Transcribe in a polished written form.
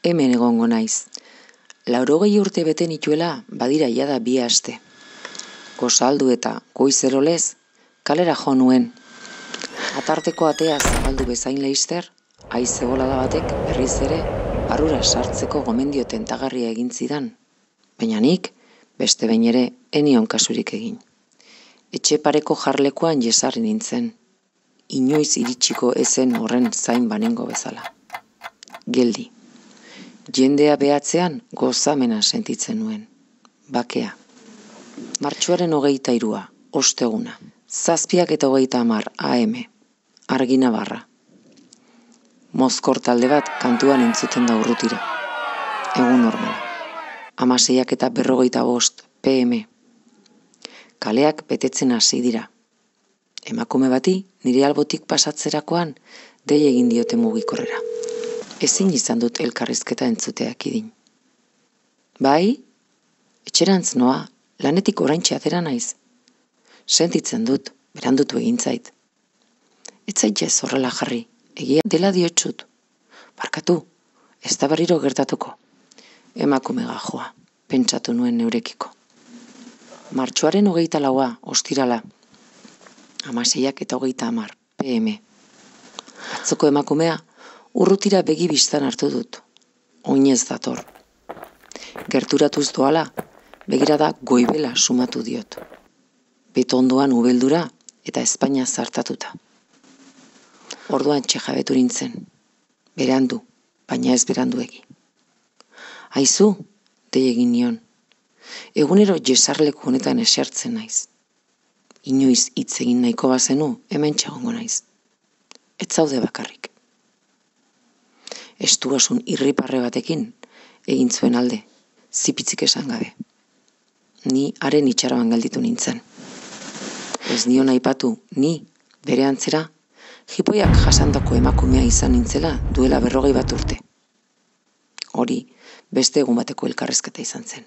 hemen egongo naiz. 80 urte bete nituela badira jada 2 aste. Gozaldu eta goizerolez kalera jo nuen. Atarteko atea zabaldu bezain leister, haize bolada batek berriz ere barrura sartzeko gomendio tentagarria egin zidan. Baina nik, beste behin ere, enion kasurik egin. Etxe pareko jarlekuan jesarri nintzen. Inoiz iritsiko ezen horren zain banengo bezala. Geldi. Jendea behatzean gozamena sentitzen nuen. Bakea. Martxoaren 23, osteguna. 7:30 AM. Argi Navarra. Mozkor talde bat kantuan entzuten da urrutira. Egun normala. 6:45 PM. Kaleak betetzen hasi dira. Emakume bati nire albotik pasatzerakoan dei egin diote mugikorrera. Ezin izan dut elkarrizketa entzuteak idin. Bai? Etxerantz noa, lanetik oraintxe atera naiz. Sentitzen dut, berandutu egin zait. Ez zaitez horrela jarri, egia dela diotsut. Barkatu, ez da berriro gertatuko. Emakume gajoa, pentsatu nuen neurekiko. Martxoaren 24, ostirala. 6:30 PM. Atzoko emakumea urrutira begi bistan hartu dut. Oinez dator. Gerturatuz doala, begirada goibela sumatu diot. Betondoan ubeldura eta Espainia zartatuta. Orduan txejabetu nintzen. Berandu, baina ez beranduegi. Aizu, dei egin nion. Egunero jesarleku honetan esertzen naiz. Inoiz hitz egin nahiko bazenu, hemen txegongo naiz. Ez zaude bakarrik. Estuasun irriparre batekin egin zuen alde, zipitzik esan gabe. Ni haren itxaroan gelditu nintzen. Ez nion aipatu, ni, bere antzera, jipoiak jasandako emakumea izan nintzela duela 40 urte. Hori, beste egun bateko elkarrezketa izan zen.